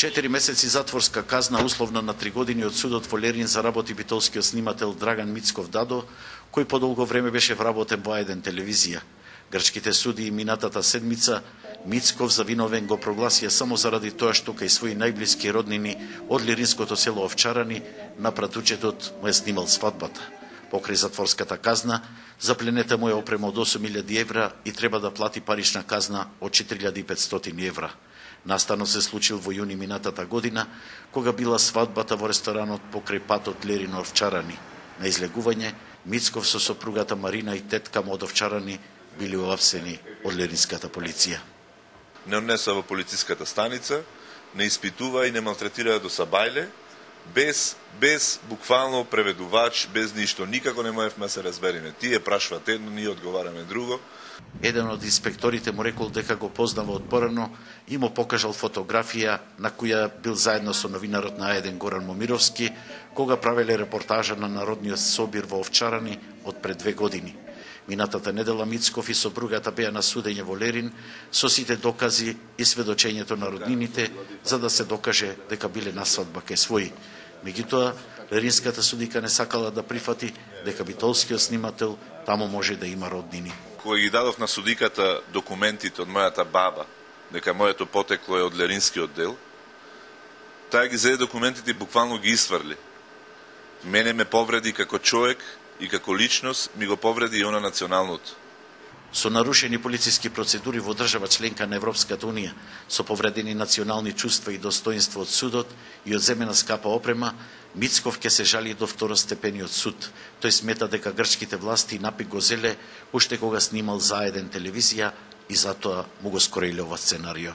4 месеци затворска казна условна на 3 години од судот во Лерин заработи битолскиот снимател Драган Мицков Дадо, кој подолго време беше вработен во А1 телевизија. Грчките суди минатата седмица Мицков завиновен го прогласија само заради тоа што кај своји најблиски роднини од лиринското село Овчарани на пратучетот му е снимал свадбата. Покрај затворската казна, запленета му е опрема од 8.000 евра и треба да плати парична казна од 4.500 евра. Настанот се случил во јуни минатата година, кога била свадбата во ресторанот покрај патот Лерино Овчарани. На излегување, Мицков со сопругата Марина и тетка му од Овчарани били уапсени од леринската полиција. Не однеса во полициската станица, не испитува и не малтретира до сабајле, без буквално преведувач, без ништо. Никако не можевме да се разбериме. Тие прашваат едно, ние одговараме друго. Еден од инспекторите му рекол дека го познава од порано и му покажал фотографија на која бил заедно со новинарот на А1 Горан Момировски, кога правеле репортажа на Народниот собир во Овчарани од пред 2 години. Минатата недела Мицков и сопругата беа на судење во Лерин со сите докази и сведочењето на роднините за да се докаже дека биле на свадба кај своји. Меѓутоа, леринската судика не сакала да прифати дека битолскиот снимател таму може да има роднини. Кога ги дадов на судиката документите од мојата баба, дека моето потекло е од леринскиот дел, таа ги зеде документите и буквално ги isврли. Мене ме повреди како човек и како личност, ми го повреди и она националното. Со нарушени полициски процедури во држава членка на Европската Унија, со повредени национални чувства и достоинство од судот и одземена скапа опрема, Мицков ќе се жали до второстепениот суд. Тој смета дека грчките власти напик го зеле уште кога снимал за А1 телевизија и затоа му го скореле ова сценарио.